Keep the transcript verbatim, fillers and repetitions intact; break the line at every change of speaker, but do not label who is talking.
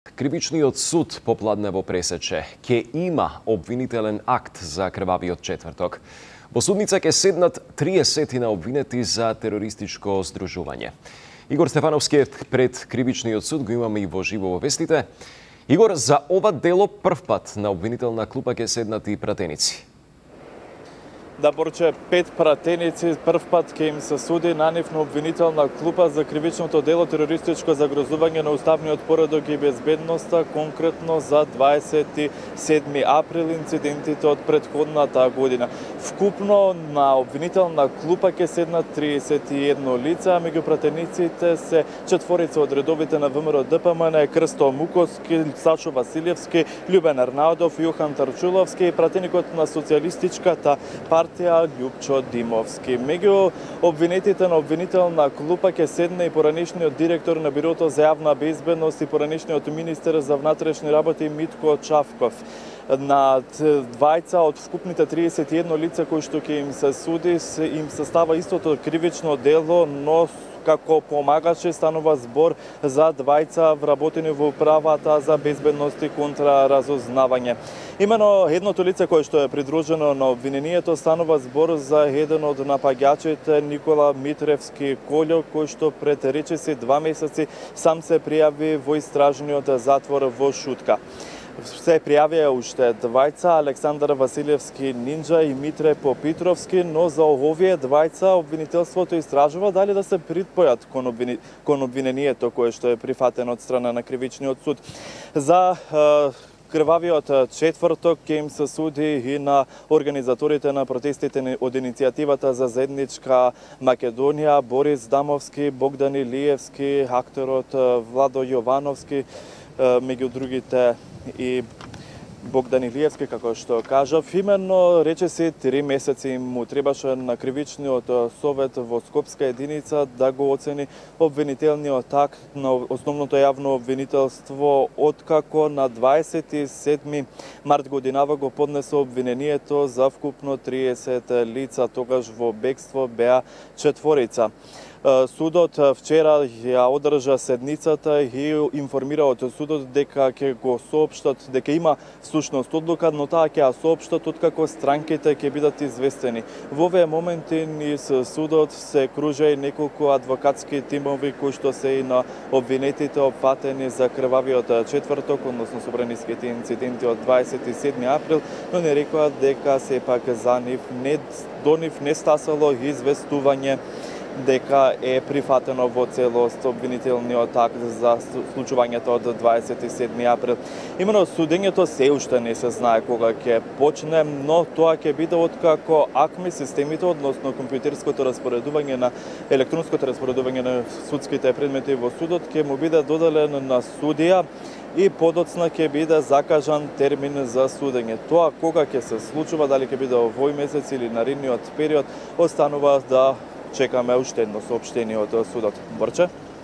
Кривичниот суд попладне во Пресече ќе има обвинителен акт за крвавиот четврток. Во судница ќе седнат триесет на обвинети за терористичко здружување. Игор Стефановски пред Кривичниот суд го имаме и во живо во вестите. Игор, за ова дело првпат на обвинителна клупа ќе седнат и пратеници.
Да, Борче, пет пратеници првпат ќе им се суди на нив на обвинителна клупа за кривичното дело терористичко загрозување на уставниот поредок и безбедноста, конкретно за дваесет и седми април, инцидентите од претходната година. Вкупно на обвинителна клупа ќе седнат триесет и едно лица, а меѓу пратениците се четворица од редовите на ВМРО Д П М Н, Крсто Муковски, Сашо Василевски, Љубен Арнаудов, Јохан Тарчуловски и пратеникот на социјалистичката партија Љупчо Димовски. Меѓу обвинетите на обвинителна клупа ќе седне и поранешниот директор на Бирото за јавна безбедност и поранешниот министер за внатрешни работи Митко Чавков. На двајца од вкупните триесет и едно лица кои што ќе им се суди, им се става истото кривично дело, но како помагачи станува збор за двајца вработени во управата за безбедност и контраразузнавање. Имено едното лице кое што е придружено на обвинението станува збор за еден од напаѓачите Никола Митревски Колјо, кој што пред речиси два месеци сам се пријави во истражниот затвор во Шутка. Се пријавија уште двајца, Александар Василевски Нинџа и Митре Попитровски, но за овие двајца обвинителството истражува дали да се припојат кон, обвини... кон обвинението кое што е прифатено од страна на Кривичниот суд. За е, крвавиот четврток ќе им се суди и на организаторите на протестите од иницијативата за заедничка Македонија, Борис Дамовски, Богдан Илиевски, акторот Владо Јовановски, меѓу другите и Богдан Илиевски, како што кажав. Именно речиси три месеци му требаше на Кривичниот совет во Скопска единица да го оцени обвинителниот акт на основното јавно обвинителство, откако на дваесет и седми март годинава го поднесе обвинението за вкупно триесет лица, тогаш во бегство беа четворица. Судот вчера ја одржа седницата и информира од судот дека ќе го соопштат, дека има всушност одлука, но таа ќе ја соопштат откако странките ќе бидат известени. Во овие моменти низ судот се кружа и неколку адвокатски тимови кои што се и на обвинетите опфатени за крвавиот четврток, односно собраниските инциденти од дваесет и седми април, но не рекоа дека сепак за нив не, до нив не стасало известување дека е прифатено во целост обвинителниот акт за случувањето од дваесет и седми април. Имено судењето се уште не се знае кога ќе почне, но тоа ќе биде откако АКМИ системите, односно компјутерското распоредување на електронското распоредување на судските предмети во судот ќе му биде доделен на судија и подоцна ќе биде закажан термин за судење. Тоа кога ќе се случува, дали ќе биде овој месец или наредниот период, останува да чекаме уште едно соопштение од судот. Борче?